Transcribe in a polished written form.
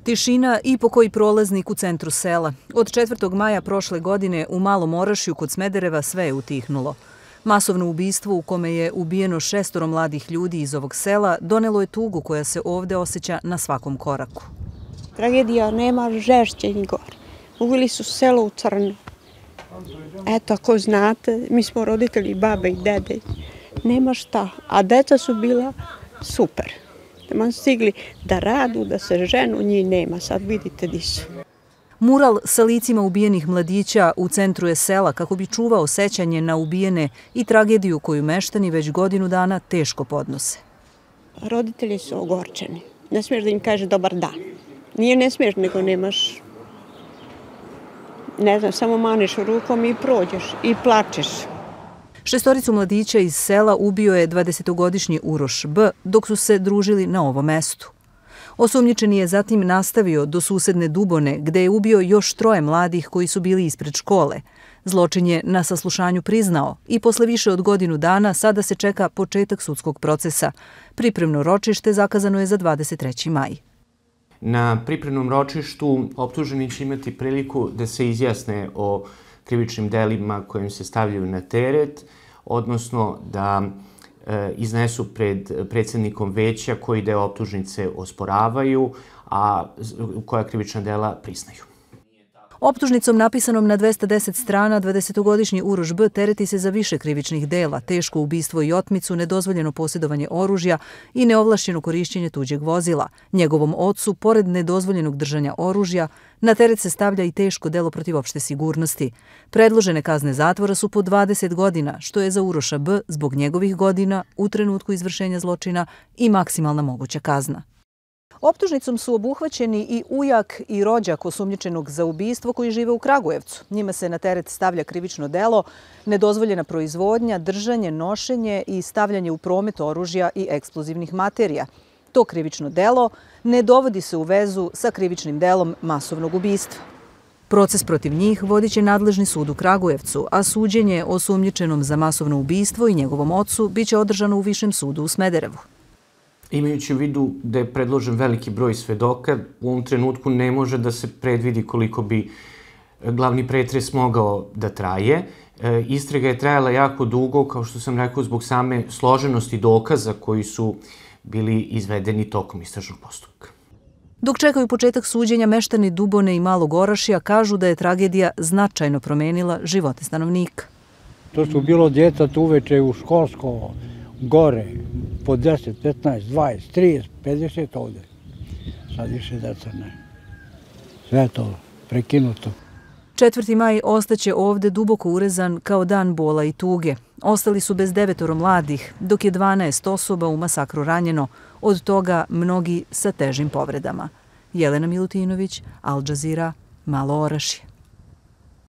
Tišina i pokoji prolaznik u centru sela. Od 4. maja prošle godine u Malom Orašju kod Smedereva sve je utihnulo. Masovno ubistvo u kome je ubijeno 6 mladih ljudi iz ovog sela donelo je tugu koja se ovdje osjeća na svakom koraku. Tragedija nema žešće ni gore. Uveli su selo u crno. Eto, ako znate, mi smo roditelji, babe i dede. Nema šta, a deca su bila super. Man stigli da radu, da se ženu, njih nema. Sad vidite di su. Mural sa licima ubijenih mladića u centru je sela kako bi čuvao sećanje na ubijene i tragediju koju meštani već godinu dana teško podnose. Roditelji su ogorčeni. Ne smiješ da im kaže dobar dan. Nije ne smiješ, nego nemaš, ne znam, samo maneš rukom i prođeš i plačeš. 6 mladića iz sela ubio je 20-godišnji Uroš B. dok su se družili na ovom mestu. Osumnjičeni je zatim nastavio do susedne Dubone, gde je ubio još 3 mladih koji su bili ispred škole. Zločin je na saslušanju priznao i posle više od godinu dana sada se čeka početak sudskog procesa. Pripremno ročište zakazano je za 23. maj. Na pripremnom ročištu optuženi će imati priliku da se izjasne o krivičnim delima kojim se stavljaju na teret, odnosno da iznesu pred predsjednikom veća koji deo optužnice osporavaju, a koja krivična dela priznaju. Optužnicom napisanom na 210 strana 20-godišnji Uroš B. tereti se za više krivičnih dela, teško ubistvo i otmicu, nedozvoljeno posjedovanje oružja i neovlašćeno korišćenje tuđeg vozila. Njegovom ocu, pored nedozvoljenog držanja oružja, na teret se stavlja i teško delo protiv opšte sigurnosti. Predložene kazne zatvora su po 20 godina, što je za Uroša B. zbog njegovih godina u trenutku izvršenja zločina i maksimalna moguća kazna. Optužnicom su obuhvaćeni i ujak i rođak osumnjičenog za ubistvo koji žive u Kragujevcu. Njima se na teret stavlja krivično delo, nedozvoljena proizvodnja, držanje, nošenje i stavljanje u promet oružja i eksplozivnih materija. To krivično delo ne dovodi se u vezu sa krivičnim delom masovnog ubistva. Proces protiv njih vodit će nadležni sud u Kragujevcu, a suđenje osumnjičenom za masovno ubistvo i njegovom ocu biće održano u Višem sudu u Smederevu. Imajući u vidu da je predložen veliki broj svedoka, u ovom trenutku ne može da se predvidi koliko bi glavni pretres mogao da traje. Istraga je trajala jako dugo, kao što sam rekao, zbog same složenosti dokaza koji su bili izvedeni tokom istražnog postupka. Dok čekaju početak suđenja, meštani Dubone i Malog Orašja kažu da je tragedija značajno promenila živote stanovnika. To su bilo djeca uveče u školsko, gore, po 10, 15, 20, 30, 50 ovdje. Sad više deca ne. Sve to prekinuto. 4. maj ostaće ovdje duboko urezan kao dan bola i tuge. Ostali su bez 9 mladih, dok je 12 osoba u masakru ranjeno, od toga mnogi sa težim povredama. Jelena Milutinović, Al Jazeera, Malo Orašje.